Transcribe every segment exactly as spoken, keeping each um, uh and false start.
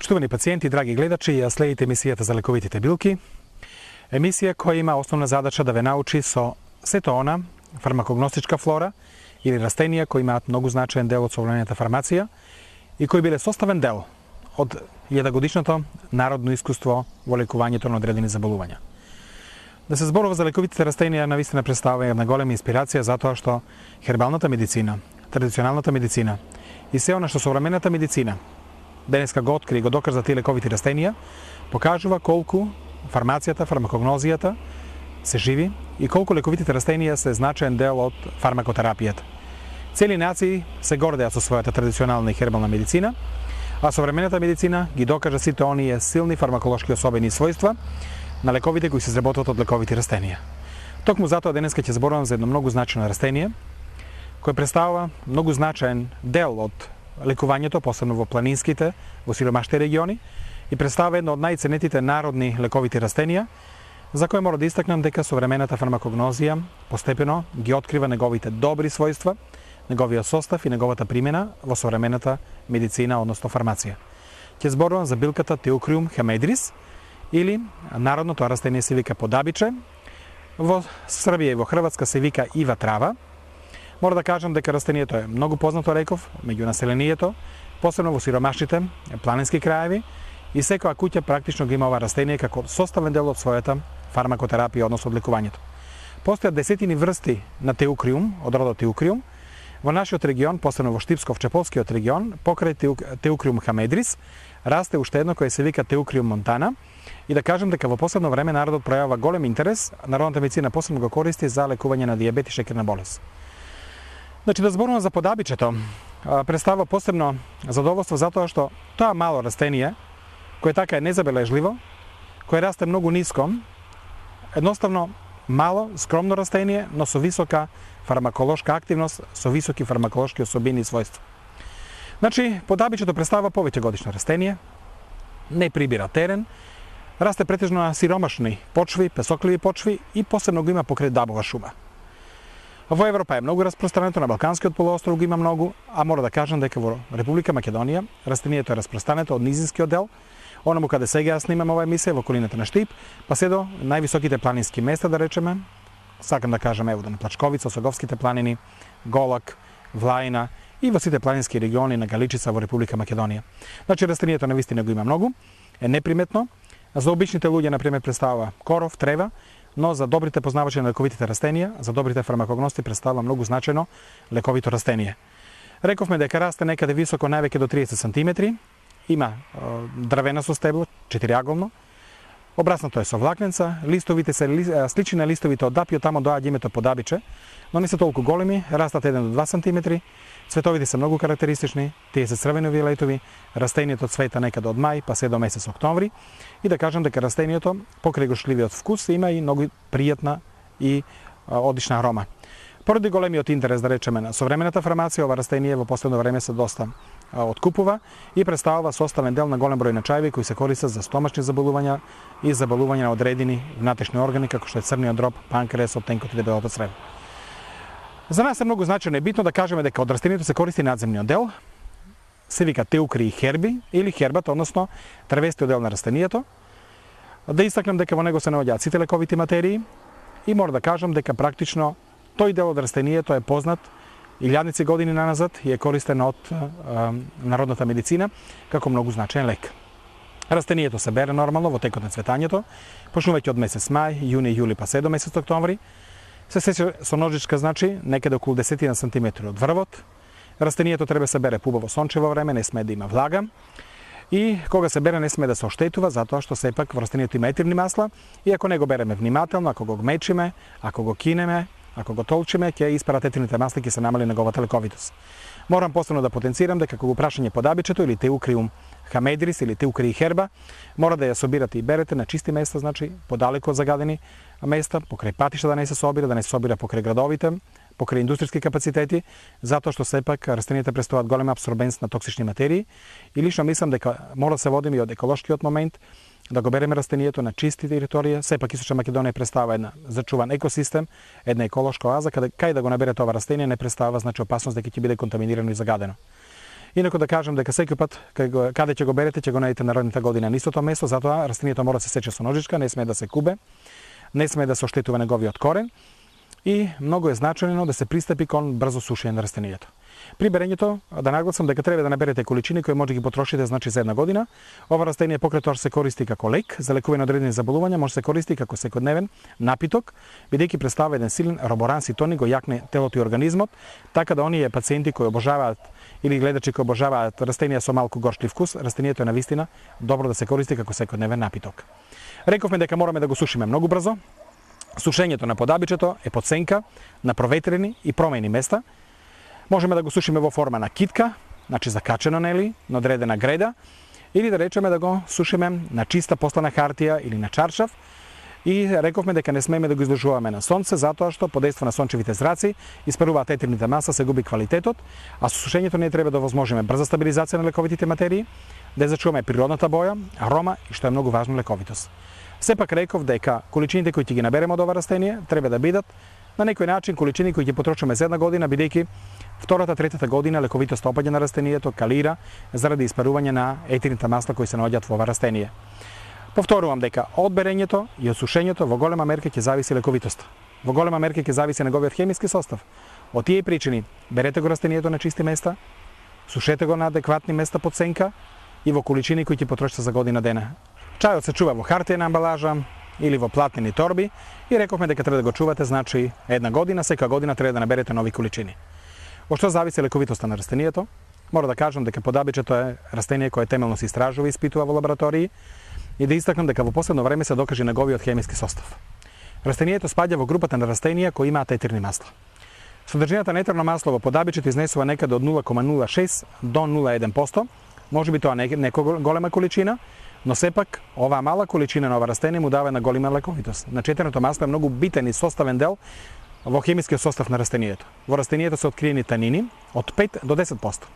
Почитувани пациенти, драги гледачи, ја следите емисијата за лековитите билки. Емисија која има основна задача да ве научи со сето она фармакогностичка флора или растенија кои имаат многу значаен дел од современата фармација и кои биле составен дел од илјадогодишното народно искуство во лекувањето на одредени заболувања. Да се зборува за лековитите растенија навистина представува една голема инспирација затоа што хербалната медицина, традиционалната медицина и се она што современата медицина денеска го откри и го докажа тие лековити растенија, покажува колку фармацијата, фармакогнозијата се живи и колку лековитите растенија се значаен дел од фармакотерапијата. Цели нации се гордеат со својата традиционална и хербална медицина, а современата медицина ги докажа сите оние силни фармаколошки особени својства на лековите кои се изработуваат од лековити растенија. Токму затоа денеска ќе зборувам за едно многу значајно растение кој представува многу значаен дел од лекувањето, посебно во планинските, во сиромашните региони, и представува едно од најценетите народни лековити растенија, за кој мора да истакнам дека современата фармакогнозија постепено ги открива неговите добри својства, неговиот состав и неговата примена во современата медицина, односно фармација. Ќе зборувам за билката Teucrium hemedris, или народно тоа растение се вика подабиче, во Србија и во Хрватска се вика ива трава. Мора да кажам дека растението е многу познато, реков, меѓу населението, посебно во сиромашните планински краеви, и секоја куќа практично ги има ова растение како составен дел од својата фармакотерапија, односно од лекувањето. Постојат десетини врсти на Teucrium, од родот Teucrium, во нашиот регион, посебно во Штипсков-Чеполскиот регион, покрај Teucrium hemedris, расте уште едно кое се вика Teucrium montana, и да кажам дека во последно време народот пројавува голем интерес, народната медицина посебно го користи за лекување на дијабет и шекерна болест. Значи, да зборувам за подабичето, представува посебно задоволство затоа што тоа мало растение, кое така е незабележливо, кое расте многу ниско, едноставно мало, скромно растение, но со висока фармаколошка активност, со високи фармаколошки особини и својства. Значи, подабичето представува повеќе годишно растение, не прибира терен, расте претежно на сиромашни почви, песокливи почви и посебно го има покрај дабова шума. Во Европа е многу распространето, на Балканскиот полуостров го има многу, а мора да кажам дека во Република Македонија растението е распространето од низинскиот дел, онаму каде сега ја снимам ова емисија, во околината на Штип, па се до највисоките планински места, да речеме, сакам да кажам ево на Плачковица, Осоговските планини, Голак, Влајна и во сите планински региони на Галичица во Република Македонија. Значи растението навистина го има многу, е неприметно, за обичните луѓе на пример представува коров, трева, но за добрите познавачи на лековитите растенија, за добрите фармакогности представува многу значајно лековито растение. Рековме дека расте некаде високо највеќе до триесет сантиметри, има е, дрвенасто стебло, четириаголно, обраснато е со влакненца, листовите се ли, слични на листовите од дапио, тамо доаѓа името подабиче, но не се толку големи, растат еден до два сантиметри, цветовите се многу карактеристични, тие се црвено-виолетови, растението цвета некаде од мај па се до месец октомври, и да кажам дека растението покрај го шливиот вкус има и многу пријатна и а, одлична арома. Поради големиот интерес, да речеме, на современата фармација, ова растение во последно време се доста а, откупува и представува составен дел на голем број начајби кои се користат за стомачни заболувања и заболувања на одредени внатрешни органи како што е црниот дроб, панкреасот, тенкот и дебелото црево. За нас е многу значајно и битно да кажеме дека од растението се користи надземниот дел, се вика Teucri herbi или хербата, односно трвестиот дел на растението. Да истакнам дека во него се наоѓаат сите лековити материи и мора да кажам дека практично тој дел од растението е познат илјадници години наназад и е користен од а, народната медицина како многу значаен лек. Растението се бере нормално во текот на цветањето, почнувајќи од месец мај, јуни, јули па се до месец октомври. Се сече со ножичка, значи, некаде околу десет сантиметри од врвот. Растението треба се бере пубаво сончево време, не сме да има влага. И кога се бере не сме да се оштетува, затоа што сепак во растението има етерни масла и ако не го береме внимателно, ако го гмечиме, ако го кинеме, ако го толчиме, ќе испарат етерните масла и ќе се намали неговата лековитост. Морам посебно да потенцирам дека кога прашање подабичето или Teucrium hemedris или Teucri herba, мора да ја собирате и берете на чисти места, значи подалеку од загадени места, покрај патишта да не се собира, да не се собира покрај градовите, покрај индустријски капацитети, затоа што сепак растенијата представуваат голема абсорбенс на токсични материи и лично мислам дека мора да се водиме и од еколошкиот момент, да го береме растението на чисти територија. Сепак Источна Македонија представува една зачуван екосистем, една еколошка оаза, каде кај да го наберете ова растение не представува значи опасност дека ќе биде контаминирано и загадено. Инаку да кажам дека секој пат каде ќе го берете, ќе го најдете народната година на истото место, затоа растението мора да се сече со ножичка, не смее да се кубе, не смее да се оштетува неговиот корен и многу е значајно да се пристапи кон брзо сушење на растението. При берењето да нагласам дека треба да наберете количини кои може да ги потрошите значи за една година. Ова растение покрај тоа се користи како лек за лекување на одредени заболувања, може да се користи како секојдневен напиток, бидејќи представува еден силен роборанси тоник, го јакне телото и организмот, така да оние пациенти кои обожаваат или гледачи кои обожаваат растенија со малку горчлив вкус, растението е навистина добро да се користи како секојдневен напиток. Рековме дека мораме да го сушиме многу брзо. Сушењето на подабичето е под сенка на проветрени и промени места. Можеме да го сушиме во форма на китка, значи закачено нели, на одредена греда, или да речеме да го сушиме на чиста послана хартија или на чаршав. И рековме дека не смееме да го изложуваме на сонце, затоа што под дејство на сончевите зраци испаруваат етерните маса, се губи квалитетот, а со сушењето не треба да возможиме брза стабилизација на лековитите материи, да ја зачуваме природната боја, арома и што е многу важно лековитост. Сепак реков дека количините кои ќе ги набереме од ова растение треба да бидат на некој начин количини кои ќе потрошиме за една година, бидејќи втората, третата година лековитост опаѓа на растението, калира заради испарување на етерните масла кои се наоѓаат во ова растение. Повторувам дека од берењето и од сушењето во голема мерка ќе зависи лековитоста. Во голема мерка ќе зависи неговиот хемиски состав. Од тие причини берете го растението на чисти места, сушете го на адекватни места под сенка и во количини кои ќе потрошите за година дена. Чајот се чува во хартиена амбалажа или во платнени торби и рековме дека треба да го чувате, значи една година, секоја година треба да наберете нови количини. Во што зависи лековитоста на растението? Мора да кажам дека подабичето е растение кое темелно се истражува и испитува во лаборатории и да истакнам дека во последно време се докаже неговиот хемиски состав. Растението спаѓа во групата на растенија кои имаат етерни масла. Содржината на етерно масло во подабичето изнесува некаде од нула кoma нула шест до нула целу еден проценто. Може би тоа не е некоја голема количина, но сепак оваа мала количина на ова растение му дава една голема лековитост. Значи етерното масло е многу битен и составен дел во хемискиот состав на растението. Во растението се откриени танини од пет до десет проценто.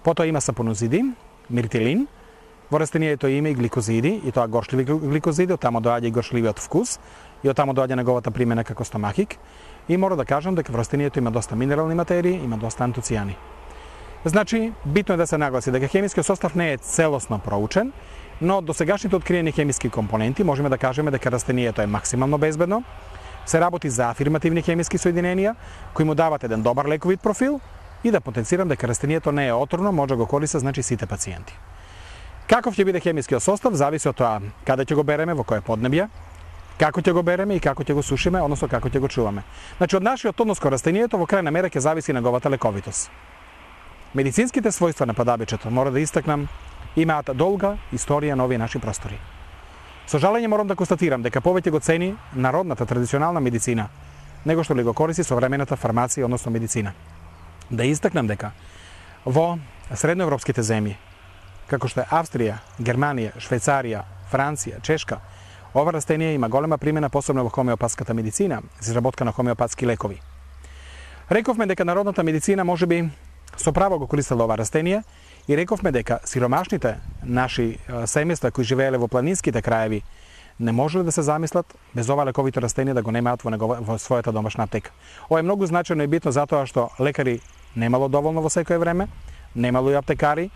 Потоа има сапонозиди, миртилин, во растението има и гликозиди, и тоа горчливи гликозиди, оттамо доаѓа и горчливиот вкус, и оттамо доаѓа неговата примена како стомахик. И мора да кажам дека во растението има доста минерални материи, има доста антоцијани. Значи, битно е да се нагласи дека хемискиот состав не е целосно проучен, но до сегашните откриени хемиски компоненти можеме да кажеме дека растението е максимално безбедно, се работи за афирмативни хемиски соединенија кои му дават еден добар лековит профил и да потенцирам дека растението не е отровно, може да го користат значи сите пациенти. Каков ќе биде хемискиот состав зависи од тоа каде ќе го береме, во кое поднебје, како ќе го береме и како ќе го сушиме, односно како ќе го чуваме. Значи од нашиот однос кон растението во крајна мера ќе зависи неговата лековитост. Медицинските својства на подабичето, мора да истакнам, имаат долга историја на овие наши простори. Со жалење морам да констатирам дека повеќе го цени народната традиционална медицина, него што ли го користи современата фармација, односно медицина. Да истакнам дека во средноевропските земји, како што е Австрија, Германија, Швајцарија, Франција, Чешка, ова растение има голема примена, посебно во хомеопатската медицина, за изработка на хомеопатски лекови. Рековме дека народната медицина можеби со право го користела ова растение и рековме дека сиромашните наши семејства кои живееле во планинските краеви не можеле да се замислат без ова лековито растение да го немаат во, негова, во својата домашна аптека. Ова е многу значајно и битно затоа што лекари немало доволно во секое време, немало и аптекари,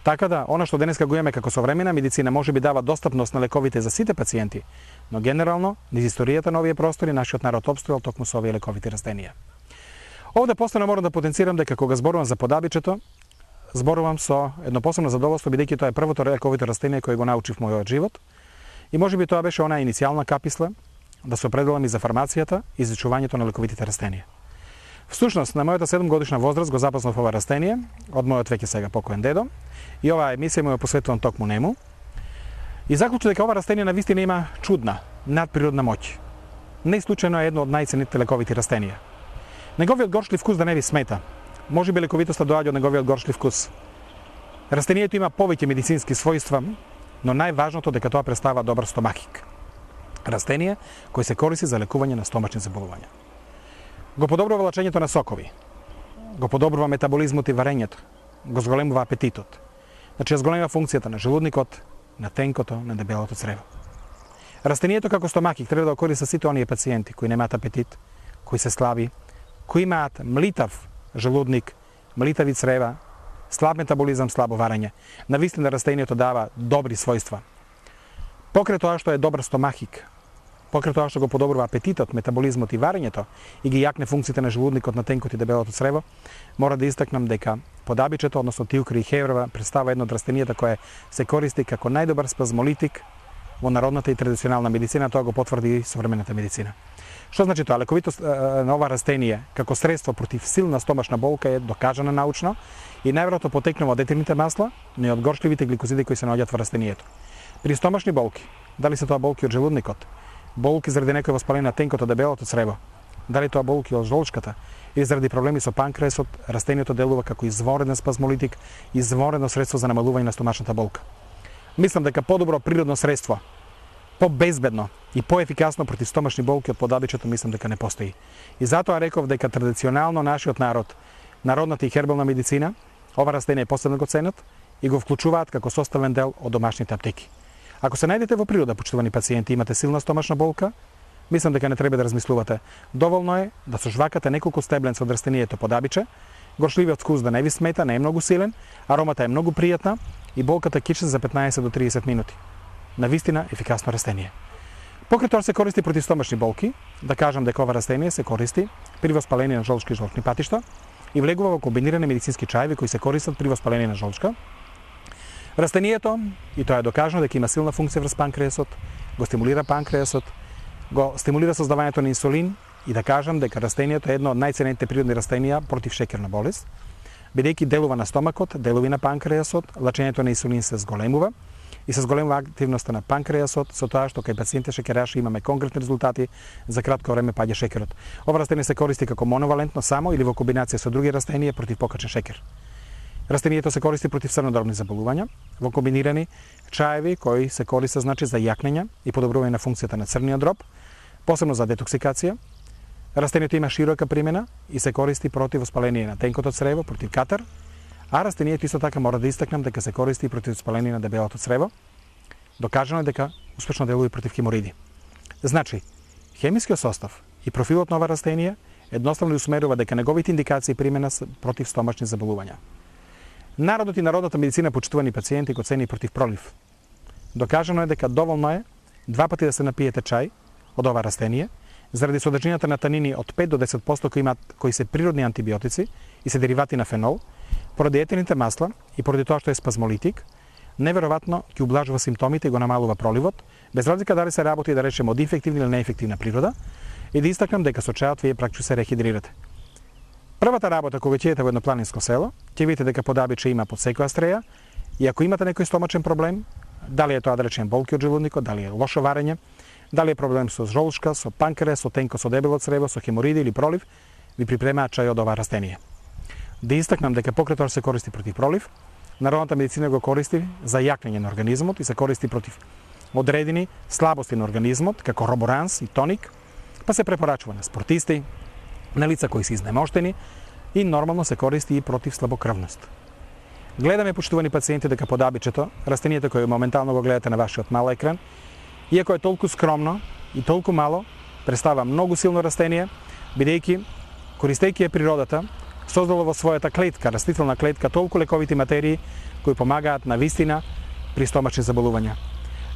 така да она што денеска го имаме како современа медицина може би дава достапност на лековите за сите пациенти, но генерално низ историјата на овие простори нашиот народ опстојал токму со овие лековити растенија. Овде постојано морам да потенцирам дека кога зборувам за подабичето, зборувам со едно посебно задоволство, бидејќи тоа е првото лековито растение кое го научив мојот живот. И можеби тоа беше онаа иницијална каписла да се определам и за фармацијата и изучувањето на лековитите растенија. Всушност, на мојата седумгодишна возраст го запознав ова растение од мојот веќе сега покоен дедо и оваа емисија му ја посветувам токму нему. И заклучив дека ова растение навистина има чудна, надприродна моќ. Не случајно е едно од најценетите лековити растенија. Неговиот горчлив вкус да не ви смета. Може би лековитоста доаѓа од неговиот горчлив вкус. Растението има повеќе медицински својства, но најважното дека тоа представува добар стомахик. Растение кој се користи за лекување на стомачни заболувања. Го подобрува влачењето на сокови, го подобрува метаболизмот и варењето, го зголемува апетитот. Значи, ја зголемува функцијата на желудникот, на тенкото, на дебелото црево. Растението како стомахик треба да го користат сите оние пациенти кои немаат апетит, кои се слаби, кои имаат млитав желудник, млитави црева, слаб метаболизам, слабо варење. Навистина растението дава добри својства. Покрај тоа што е добар стомахик, покрај тоа што го подобрува апетитот, метаболизмот и варењето и ги јакне функциите на желудникот, на тенкот и дебелото црево, мора да истакнам дека подабичето, односно тиукри и хеврова, представува едно од растенијата кое се користи како најдобар спазмолитик во народната и традиционална медицина, тоа го потврди и современата медицина. Што значи тоа? Лековитост на ова растение како средство против силна стомашна болка е докажана научно и најверојатно потекнува од етилните масла, но и од горчливите гликозиди кои се наоѓаат во растението. При стомашни болки, дали се тоа болки од желудникот, болки заради некој воспаление на тенкото, дебелото црево, дали тоа болки од жолчката или заради проблеми со панкреасот, растението делува како извореден спазмолитик, изворедно средство за намалување на стомашната болка. Мислам дека подобро природно средство, побезбедно и поефикасно против стомашни болки од подабичето, мислам дека не постои. И затоа реков дека традиционално нашиот народ, народната и хербална медицина, ова растение посебно го ценат и го вклучуваат како составен дел од домашните аптеки. Ако се најдете во природа, почитувани пациенти, имате силна стомашна болка, мислам дека не треба да размислувате. Доволно е да со жвакате неколку стебленца од растението подабиче, горчливиот вкус да не ви смета, не е многу силен, аромата е многу пријатна и болката киче за петнаесет до триесет минути. Навистина ефикасно растение. Покрај тоа се користи против стомашни болки, да кажам дека ова растение се користи при воспаление на жолчки и жолчни патишта и влегува во комбинирани медицински чаеви кои се користат при воспаление на жолчка. Растението, и тоа е докажано дека има силна функција врз панкреасот, го стимулира панкреасот, го стимулира создавањето на инсулин и да кажам дека растението е едно од најценените природни растенија против шеќерна болест, бидејќи делува на стомакот, делува на панкреасот, лачењето на инсулин се зголемува и се зголемува активноста на панкреасот, со тоа што кај пациентите шеќераши имаме конкретни резултати, за кратко време паѓа шеќерот. Ова растение се користи како моновалентно само или во комбинација со други растенија против покачен шеќер. Растението се користи против црнодробни заболувања, во комбинирани чаеви кои се користат значи за јакнење и подобрување на функцијата на црниот дроб, посебно за детоксикација. Растението има широка примена и се користи против воспаление на тенкото црево, против катар, а растението исто така мора да истакнам дека се користи против воспаление на дебелото црево. Докажано е дека успешно делува и против хемориди. Значи, хемискиот состав и профилот на ова растение едноставно усмерува дека неговите индикации и примена се против стомашни заболувања. Народот и народната медицина почитувани пациенти го цени против пролив. Докажано е дека доволно е два пати да се напиете чај од ова растение, заради содржината на танини од пет до десет проценти кои имаат кои се природни антибиотици и се деривати на фенол, поради етилните масла и поради тоа што е спазмолитик, неверојатно ќе ублажува симптомите и го намалува проливот, без разлика дали се работи да речеме од инфективна или неефективна природа, и да истакнам дека со чајот вие практично се рехидрирате. Првата работа кога ќе идете во едно планинско село, ќе видите дека подабиче има под секоја стреја и ако имате некој стомачен проблем, дали е тоа да речеме болки од желудникот, дали е лошо варење, дали е проблем со жолчка, со панкреас, со тенко, со дебело црево, со хемориди или пролив, ви припремаат чај од ова растение. Да истакнам дека покрај тоа се користи против пролив, народната медицина го користи за јакнење на организмот и се користи против одредени слабости на организмот, како роборанс и тоник, па се препорачува на спортисти, на лица кои се изнемоштени и нормално се користи и против слабокрвност. Гледаме, почитувани пациенти, дека подабичето, растението кое моментално го гледате на вашиот мал екран, иако е толку скромно и толку мало, представува многу силно растение, бидејќи, користејќи ја природата, создало во својата клетка, растителна клетка, толку лековити материи кои помагаат на вистина при стомачни заболувања.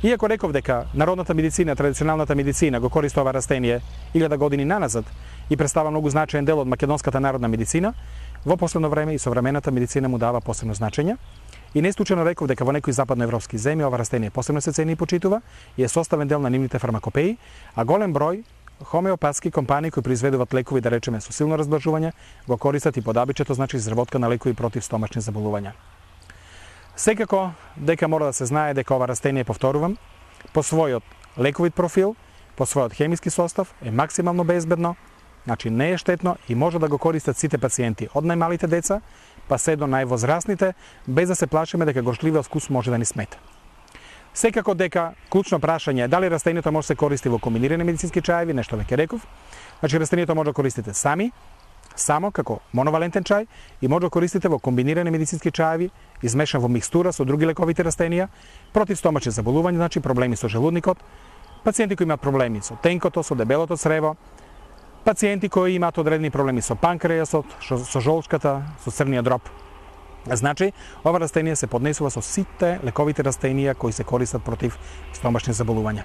Иако реков дека народната медицина, традиционалната медицина го користи ова растение илјада години наназад и представува многу значаен дел од македонската народна медицина, во последно време и современата медицина му дава посебно значење. И не случајно реков дека во некои западноевропски земји ова растение посебно се цени и почитува и е составен дел на нивните фармакопеи, а голем број хомеопатски компании кои произведуваат лекови, да речеме, со силно разблажување, го користат и подабичето, значи изработка на лекови против стомачни заболувања. Секако дека мора да се знае дека ова растение, повторувам, по својот лековит профил, по својот хемиски состав е максимално безбедно, значи не е штетно и може да го користат сите пациенти, од најмалите деца па се до највозрастните, без да се плашиме дека горчливиот вкус може да ни смета. Секако дека клучно прашање е дали растението може да се користи во комбинирани медицински чаеви, нешто веќе реков. Значи растението може да користите сами, само како моновалентен чај и може да користите во комбинирани медицински чаеви, измешан во микстура со други лековити растенија, против стомачни заболувања, значи проблеми со желудникот, пациенти кои имаат проблеми со тенкото, со дебелото црево, пациенти кои имаат одредени проблеми со панкреасот, со жолчката, со црниот дроб. Значи, ова растение се поднесува со сите лековите растенија кои се користат против стомашни заболувања.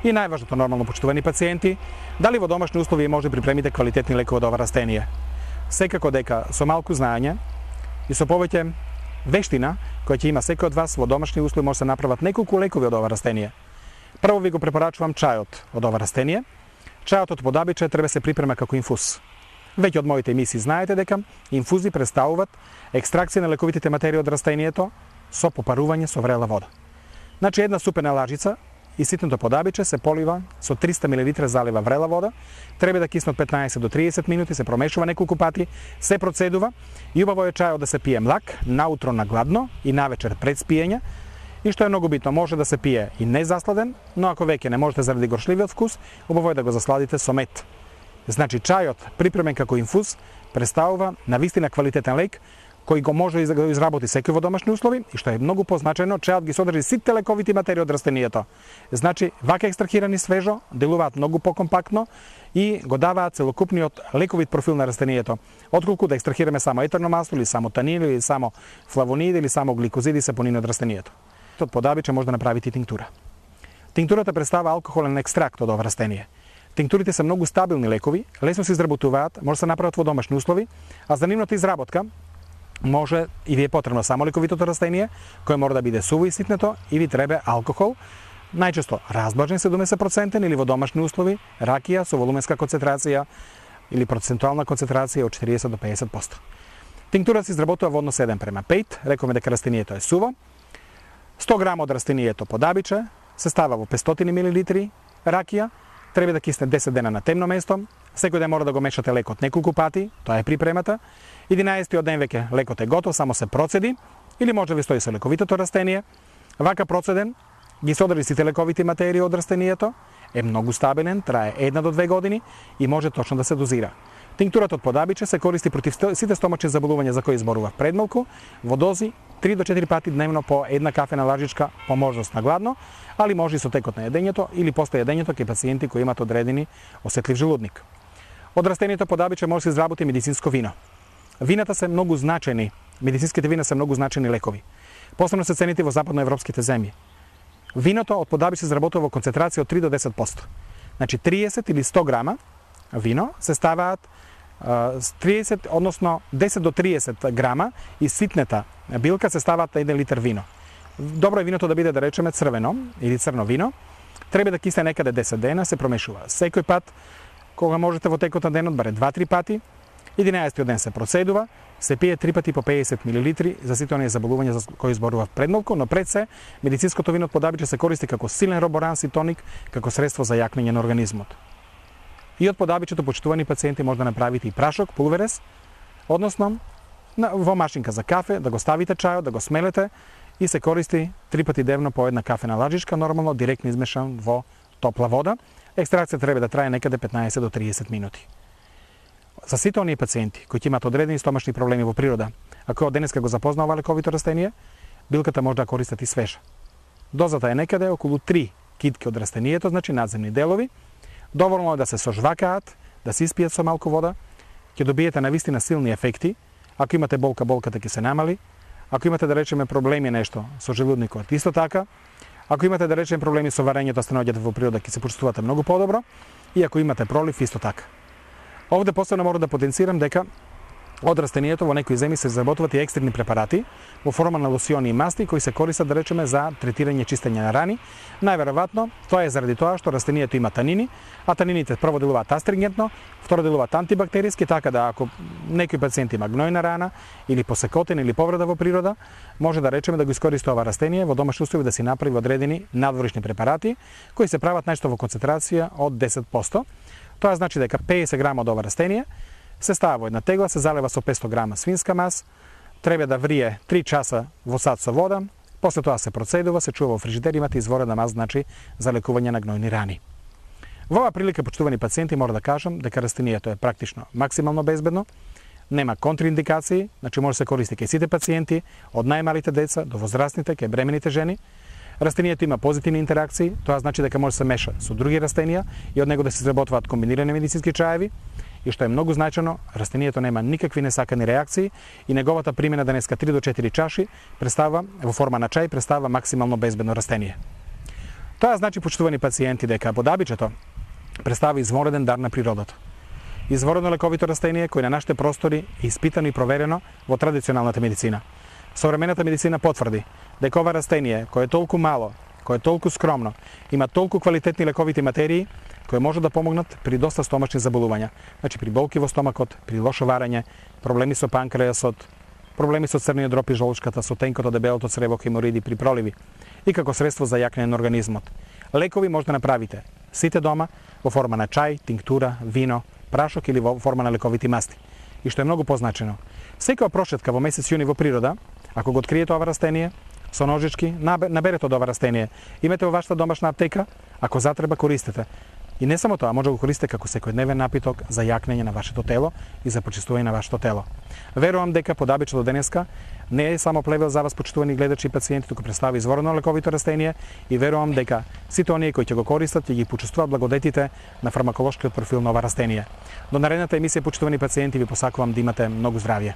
И најважното, нормално почитувани пациенти, дали во домашни услови може да припремите квалитетни лекови од ова растение? Секако дека со малку знаење и со повеќе вештина која ќе има секој од вас во домашни услови може да се направат неколку лекови од ова растение. Прво ви го препорачувам чајот од ова растение. Чајот од подабиче треба се припрема како инфуз. Веќе од моите емисии знаете дека инфузи представуваат екстракција на лековитите материи од растението со попарување со врела вода. Значи една супена лажица и ситното подабиче се полива со триста милилитри залива врела вода, треба да кисне од петнаесет до триесет минути, се промешува неколку пати, се процедува и убаво е чајот да се пие млак, наутро на гладно и навечер пред спиење. И што е многу битно, може да се пие и незасладен, но ако веќе не можете заради горшливиот вкус, убаво е да го засладите со мед. Значи чајот припремен како инфуз представува навистина квалитетен лек кој го може да го изработи секој во домашни услови и што е многу позначено, чајот ги содржи сите лековити материи од растението. Значи вака екстрахирани свежо делуваат многу покомпактно и го даваат целокупниот лековит профил на растението, отколку да екстрахираме само етерно масло или само танин или само флавониди или само гликозиди сапонини од растението. Од подабиче може да направите и тинктура. Тинктурата представува алкохолен екстракт од ова растение. Тинктурите се многу стабилни лекови, лесно се изработуваат, може да се направат во домашни услови, а за нивната изработка може и ви е потребно само лековитото растение, кое мора да биде суво и ситнето, и ви треба алкохол, најчесто разбажен седумдесет проценти или во домашни услови ракија со волуменска концентрација или процентуална концентрација од четириесет до пеесет проценти. Тинктура се изработува во однос еден према пет, рековме дека растението е суво. сто грама од растението подабиче се става во петстотини милилитри ракија, треба да кисне десет дена на темно место, секој ден мора да го мешате лекот неколку пати, тоа е припремата. единаесеттиот ден веќе лекот е готов, само се процеди, или може да ви стои со лековитото растение. Вака процеден ги содржи сите лековити материи од растението, е многу стабилен, трае една до две години и може точно да се дозира. Тинктурата од подабиче се користи против сите стомачни заболувања за кои зборував предмалку, во дози три до четири пати дневно по една кафена лажичка по можност на гладно, али може и со текот на јадењето или после јадењето кај пациенти кои имаат одредени осетлив желудник. Од растението подабиче може да се изработи медицинско вино. Вината се многу значени, медицинските вина се многу значени лекови. Посебно се цените во западноевропските земји. Виното од подабиче се изработува во концентрација од три до десет проценти. Значи триесет или сто грама вино се ставаат триесет, односно десет до триесет грама и ситната билка се ставаат еден литар вино. Добро е виното да биде, да речеме, црвено или црно вино. Треба да кисне некаде десет дена, се промешува секој пат, кога можете во текот на денот, баре два-три пати. единаесеттиот ден се процедува, се пие три пати по пеесет милилитри за сите оние заболувања за кои зборував предмалку, но пред се медицинското вино од подабиче се користи како силен роборанс и тоник, како средство за јакнење на организмот. И од подабичето, почитувани пациенти, може да направите и прашок, пулверес, односно во машинка за кафе, да го ставите чајот, да го смелете и се користи три пати дневно по една кафена лажичка, нормално директно измешан во топла вода. Екстракција треба да трае некаде петнаесет до триесет минути. За сите оние пациенти кои имаат одредени стомашни проблеми во природа, а кои од денеска го запознаа ова лековито растение, билката може да користат и свежа. Дозата е некаде околу три китки од растението, значи надземни делови. Доволно е да се сожвакаат, да се испијат со малку вода, ќе добиете навистина силни ефекти. Ако имате болка, болката ќе се намали. Ако имате, да речеме, проблеми нешто со желудникот, исто така. Ако имате, да речеме, проблеми со варењето, сте наоѓате во природа, ќе се почувствувате многу подобро. И ако имате пролив, исто така. Овде посебно мора да потенцирам дека од растението во некои земји се изработуваат и екстерни препарати во форма на лосиони и масти кои се користат, да речеме, за третирање чистење на рани. Најверојатно тоа е заради тоа што растението има танини, а танините прво делуваат астрингентно, второ делуваат антибактериски, така да ако некој пациент има гнојна рана или посекотен или повреда во природа, може да речеме да го искористи ова растение во домашни услови да си направи одредени надворишни препарати кои се прават најчесто во концентрација од десет проценти. Тоа значи дека пеесет грама од ова растение се става во една тегла, се залева со петсто грама свинска мас, треба да врие три часа во сад со вода, после тоа се процедува, се чува во фрижидер, имате изворена мас, значи за лекување на гнојни рани. Во оваа прилика, почитувани пациенти, мора да кажам дека растението е практично максимално безбедно, нема контраиндикации, значи може да се користи кај сите пациенти, од најмалите деца до возрастните, кај бремените жени. Растението има позитивни интеракции, тоа значи дека може да се меша со други растенија и од него да се изработуваат комбинирани медицински чаеви. и што е многу значено, растението нема никакви несакани реакции и неговата примена денеска три до четири чаши представува во форма на чај представува максимално безбедно растение. Тоа значи, почитувани пациенти, дека бодабичето представува извореден дар на природата. Изворедно лековито растение кој на нашите простори е испитано и проверено во традиционалната медицина. Современата медицина потврди дека ова растение, кое е толку мало, кое е толку скромно, има толку квалитетни лековити материи кои може да помогнат при доста стомачни заболувања. Значи при болки во стомакот, при лошо варење, проблеми со панкреасот, проблеми со црниот дроб и жолчката, со тенкото, дебелото црево, хемориди при проливи и како средство за јакнење на организмот. Лекови може да направите сите дома во форма на чај, тинктура, вино, прашок или во форма на лековити масти. И што е многу позначено, секоја прошетка во месец јуни во природа, ако го откриете ова растение, со ножички, наберете од ова растение, имате во вашата домашна аптека, ако затреба користете. И не само тоа, може да го користите како секојдневен напиток за јакнење на вашето тело и за почистување на вашето тело. Верувам дека подабичето денеска не е само плевел за вас, почитувани гледачи и пациенти, туку представува изворено лековито растение и верувам дека сите оние кои ќе го користат ќе ги почувствуваат благодетите на фармаколошкиот профил на ова растение. До наредната емисија, почитувани пациенти, ви посакувам да имате многу здравје.